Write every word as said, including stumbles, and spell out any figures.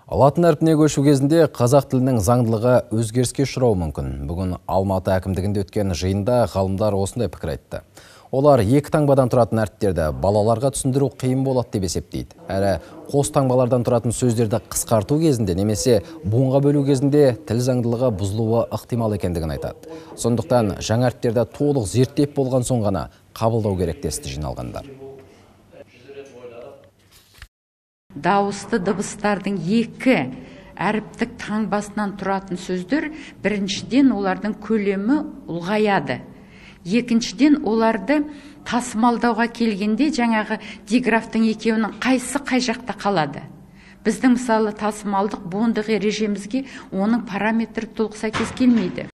Латын әрпіне көшу кезінде қазақ тілінің заңдылығы өзгеріске ұшырауы мүмкін. Бүгін Алматы әкімдігінде өткен жиында ғалымдар осындай пікір айтты. Олар екі таңбадан тұратын әріптерді балаларға түсіндіру қиын болады деп есептейді. Әрі қос таңбалардан тұратын сөздерді қысқарту кезінде немесе буынға бөлу кезінде тіл заңдылығы бұзылуы ықтимал екендігін айтады. Сондықтан жаңа әріптерді толық зерттеп болған соң ғана қабылдау керек десті жиналғандар. Дауысты дыбыстардың екі әріптік таңбасынан тұратын сөздер біріншіден олардың көлемі ұлғаяды. Екіншіден оларды тасымалдауға келгенде жаңағы диграфтың екеуінің қайсы қай жақта қалады. Біздің мысалы тасымалдық буындық ережемізге оның параметрі толық сәйкес келмейді.